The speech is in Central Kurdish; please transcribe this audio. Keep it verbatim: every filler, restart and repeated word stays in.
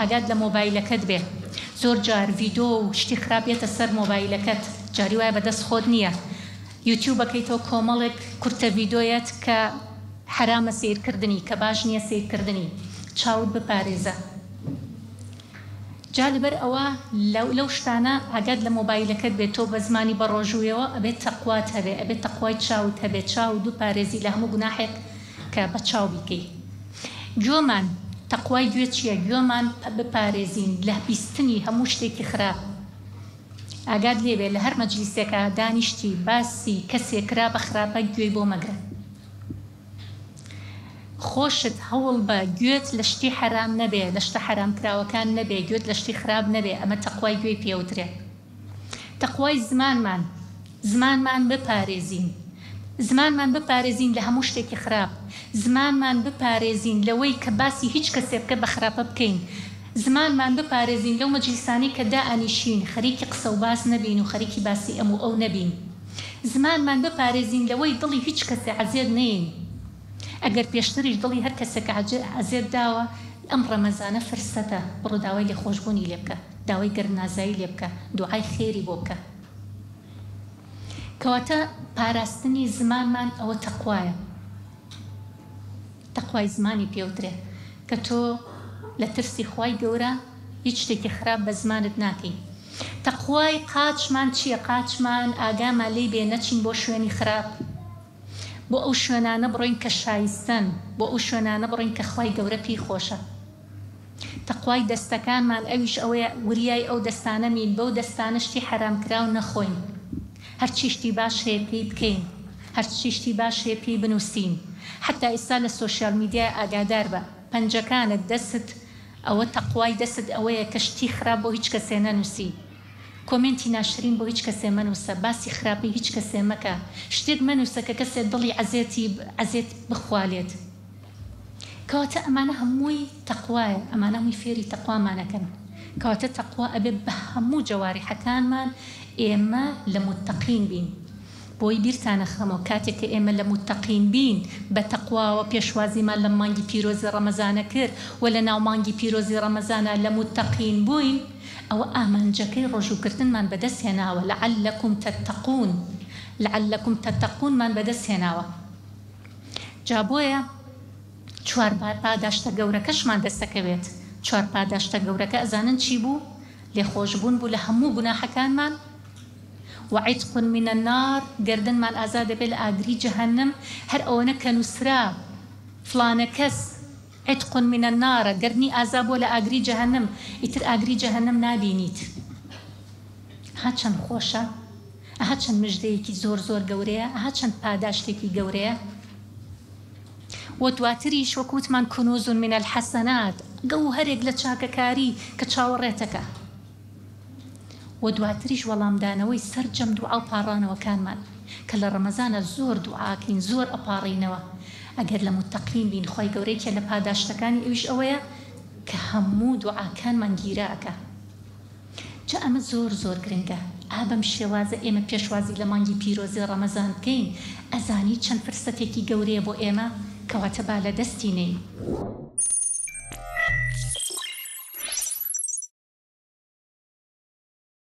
ئاگات لە مۆبایلەکەت بێ. زۆر جار ڤیدۆ و شتی خراپ یەتە سەر مۆبایلەکەت، جاری وایە بەدەست خۆت نییە. یوتیوبەکەیتەوە کۆمەڵێک کورتە ڤیدۆیەت کە حرامە سەیرکردنی، کە باش نییە سەیرکردنی. چاوت بپارێزە. جا لەبەر ئەوە لەو شتانە ئاگات لە مۆبایلەکەت بێت، تۆ بە زمانی بەڕۆژوویەوە ئەبێت تەقوات هەبێ، ئەبێت تەقوای چاوت هەبێ، چاوت بپارێزی لە هەموو گوناحێک کە بە چاو بیکەی. گوێمان، تەقوای گوێ چییە؟ گوێمان بپارێزین لە بیستنی هەموو شتێکی خراپ. ئاگات لێبێ لە هەر مەجلیسێکە دانیشتی باسی کەسێک کرا بە خراپە گوێی بۆ مەگرە. خۆشت هەوڵ بە گوێت لە شتی حرام نەبێ، لە شتە حرامکراوەکان نەبێ، گوێت لە شتی خراپ نەبێ. ئەمە تەقوای گوێی پێوترێ. تەقوای زمانمان، زمانمان بپارێزین، زمانمان بپارێزین لە هەموو شتێکی خراپ، زمانمان بپارێزین لەوەی کە باسی هیچ کەسێ بکە بە خراپە بکەین، زمانمان بپارێزین لەو مەجلیسانەی کە دائەنیشین خەریکی قسە و باس نەبین و خەریکی باسی ئەم و ئەو نەبین، زمانمان بپارێزین لەوەی دڵی هیچ کەسێ عەزێت نەین. ئەگەر پێشتریش دڵی هەر کەسێک عەزێت داوە، ئەم ڕەمەزانە فرسەتە، بڕۆ داوای لێخۆشبوونی لێ بکە، داوای گەرنازایی لێ بکە، دوعای خێری بۆ بکە. کەواتە پاراستنی زمانمان ئەوە تەقوایە. تەقوای زمانی پێوترێ کە تۆ لە ترسی خوای گەورە هیچ شتێکی خراپ بە زمانت ناکەی. تەقوای قاچمان چییە؟ قاچمان ئاگامان لێی بێ نەچین بۆ شوێنی خراپ، بۆ ئەو شوێنانە بڕۆین کە شایستەن، بۆ ئەو شوێنانە بڕۆین کە خوای گەورە پێی خۆشە. تەقوای دەستەکانمان ئەویش ئەوەیە وریای ئەو دەستانە مین، بەو دەستانە شتی حەرامکراو نەخۆین، هەرچی شتی باش هەیە پێی بکەین، هەرچی شتی باش هەیە پێی بنووسین. حتا ئێستا لە social media ئاگادار بە، پەنجەکانت دەست ئەوە تەقوای دەست ئەوەیە کە شتی خراپ بۆ هیچ کەسێ نەنووسی، comment ی ناشرین بۆ هیچ کەسێ مەنووسە، باسی خراپی هیچ کەسێ مەکە، شتێک مەنووسە کە کەسێ دڵی عەزێتی عەزێت بخوالێت. کەواتە ئەمانە هەمووی تەقوایە، ئەمانە هەمووی فێری تەقوامانەکەن. کەواتە تەقوا ئەبێ بە هەموو جەواریحەکانمان ئێمە لە متەقین بین. بۆی بیرتانە خەمەوە کاتێک کە ئێمە لە متەقین بین بە تەقواوە پێشوازیمان لە مانگی پیرۆزی ڕەمەزانە کرد و لە ناو مانگی پیرۆزی ڕەمەزانە لە متەقین بووین، ئەوە ئامانجەکەی ڕۆژووکردنمان بەدەست هێناوە. لعلکم تتقون، لعلکم تتقونمان بەدەست هێناوە. جا بۆیە چوار پاداشتە گەورەکەشمان دەستەکەوێت. چوار پاداشتە گەورەکە ئەزانن چی بوو؟ لێخۆشبوون بوو لە هەموو گوناحەکانمان، وعتق من النار، گردنمان ئازاد دەبێت لە ئاگری جەهەنم. هەر ئەوەنە کە نووسرا فلانە کەس عتق من النار، گردنی ئازاد بووە لە ئاگری جەهەنم، ئیتر ئاگری جەهەنم نابینیت. ها چەند خۆشە، ئەها چەند مژدەیەکی زۆر زۆر گەورەیە، ئەها چەند پاداشتێکی گەورەیە. و دواتریش وەک وتمان کنوز من الحسنات، گەوهەرێک لە چاکەکاری کە چاوەڕێتەکە. و دواتریش وەڵامدانەوەی سەرجەم دوعا و پاڕانەوەکانمان کە لە ڕەمەزانە زۆر دوعاکەین، زۆر ئەپاڕینەوە. ئەگەر لە متەقین بین، خوای گەورەیەکە لە پاداشتەکانی ئەویش ئەوەیە کە هەموو دوعاکانمان گیراکە. جا ئەمە زۆر زۆر گرنگە. ئا بەم شێوازە ئێمە پێشوازی لە مانگی پیرۆزی ڕەمەزان بکەین، ئەزانی چەند فرسەتێکی گەورەیە بۆ ئێمە، کەواتە با لە دەستی نەین.